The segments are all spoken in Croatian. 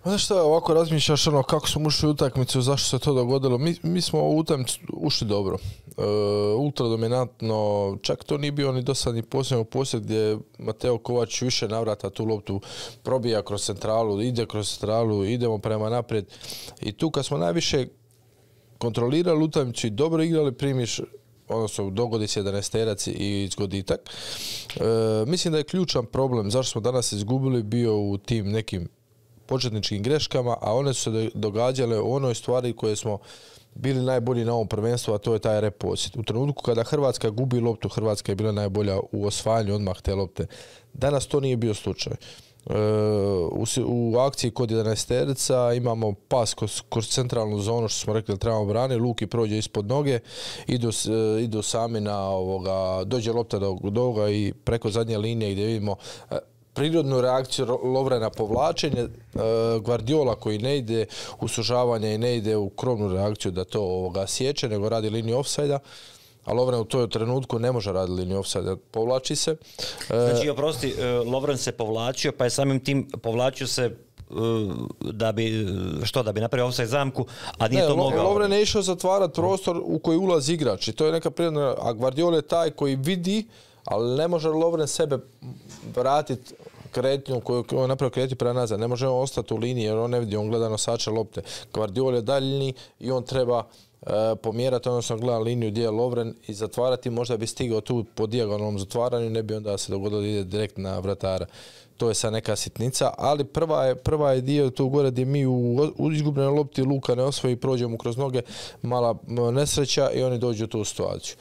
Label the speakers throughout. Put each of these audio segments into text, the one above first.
Speaker 1: Znaš šta, ovako razmišljaš kako smo ušli u utakmicu, zašto se to dogodilo. Mi smo u utakmicu ušli dobro. Ultra dominantno, čak to nije bio ni dosadni posebno posjed gdje je Mateo Kovač više navrata tu loptu probija kroz centralu, ide kroz centralu, idemo prema naprijed. I tu kad smo najviše kontrolirali utakmicu i dobro igrali, primiš, odnosno dogodi se 11-terac i zgoditak. Mislim da je ključan problem zašto smo danas izgubili bio u tim nekim početničkim greškama, a one su se događale u onoj stvari koje smo bili najbolji na ovom prvenstvu, a to je taj reposjed. U trenutku kada Hrvatska gubi loptu, Hrvatska je bila najbolja u osvajanju odmah te lopte. Danas to nije bio slučaj. U akciji kod 11-terica imamo pas kroz centralnu zonu, što smo rekli da trebamo braniti, Luki prođe ispod noge, idu sami na dođe lopta do ovoga i preko zadnje linije gdje vidimo prirodnu reakciju Lovre na povlačenje, Guardiola koji ne ide u sužavanje i ne ide u krovnu reakciju da to sječe, nego radi liniju ofsajda, a Lovren u toj trenutku ne može raditi liniju ofsajda, povlači se.
Speaker 2: Znači, oprosti, Lovren se povlačio, pa je samim tim povlačio se da bi napravio ofsajd zamku, a nije to mogao.
Speaker 1: Lovren je išao zatvarati prostor u koji ulazi igrač i to je neka prirodna, a Guardiola je taj koji vidi, ali ne može Lovren sebe vratiti kretnju koju on napravio kretnju prema nazad. Ne može on ostati u liniji jer on ne vidi, on gleda nosače lopte. Guardiola je daljni i on treba pomjerati, odnosno gleda liniju gdje je Lovren i zatvarati, možda bi stigao tu po dijagonalnom zatvaranju, ne bi onda se dogodilo da ide direkt na vratara. To je sad neka sitnica, ali prva je dio tu gore gdje mi u izgubljenoj lopti Luka ne osvoji, prođemo kroz noge, mala nesreća i oni dođu u tu situaciju.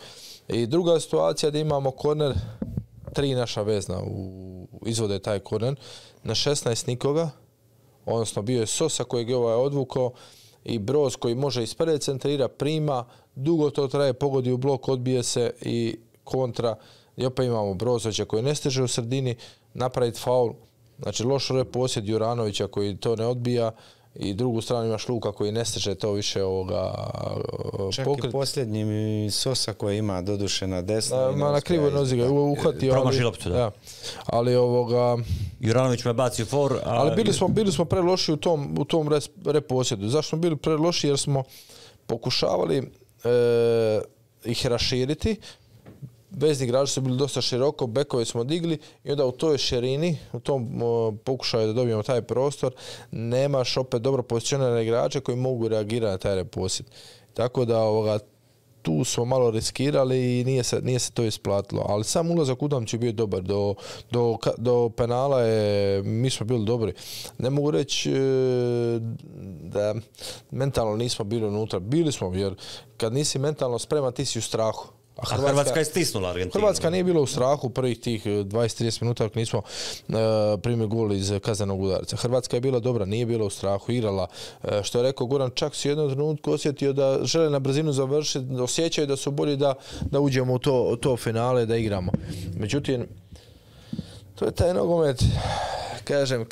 Speaker 1: I druga situacija gdje imamo korner, 3 naša vezna izvode taj korner, na 16 nikoga, odnosno bio je Sosa kojeg je odvukao i Broz koji može ispred centrira, prima, dugo to traje, pogodi u blok, odbije se i kontra. I opet imamo Brozovića koji ne stiže u sredini, napraviti faul, znači loš reposjed Juranovića koji to ne odbija, i drugu stranu imaš Luka koji ne stiže to više
Speaker 3: čak i posljednji Sosa koji ima doduše na desno.
Speaker 1: Na krivoj nozi ga uhvatio.
Speaker 2: Promaši loptu, da.
Speaker 1: Ali
Speaker 2: Juranović me bacio for.
Speaker 1: Ali bili smo preloši u tom reposjedu. Zašto smo bili preloši? Jer smo pokušavali ih raširiti. Vezni igrači su bili dosta široko, bekove smo digli i onda u toj širini, u tom pokušaju da dobijemo taj prostor, nemaš opet dobro pozicionirane igrače koji mogu reagirati na taj reposjed. Tako da tu smo malo riskirali i nije se to isplatilo. Ali sam ulazak u utakmicu je bio dobar. Do penala mi smo bili dobri. Ne mogu reći da mentalno nismo bili unutra. Bili smo, jer kad nisi mentalno spreman, ti si u strahu.
Speaker 2: A Hrvatska je stisnula Argentinu.
Speaker 1: Hrvatska nije bila u strahu prvih tih 20-30 minuta ako nismo primili gol iz kaznenog udarca. Hrvatska je bila dobra, nije bila u strahu, igrala. Što je rekao Goran, čak si u jednom trenutku osjetio da žele na brzinu završiti, da osjećaju da su bolji da uđemo u to finale, da igramo. Međutim, to je taj nogomet, kažem,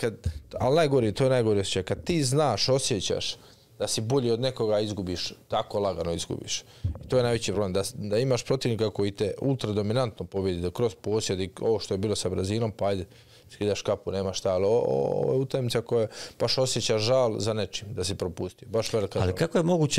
Speaker 1: ali to je najgori osjećaj. Kad ti znaš, osjećaš da si bolji od nekoga, izgubiš, tako lagano izgubiš. I to je najveći problem, da imaš protivnika koji te ultra dominantno pobjedi, da kroz posjed i ovo što je bilo sa Brazilom, pa ajde, skidaš kapu, nema šta, ali ovo je utakmica koja baš osjeća žal za nečim, da si propustio. Baš velika žal.
Speaker 2: Ali kako je moguće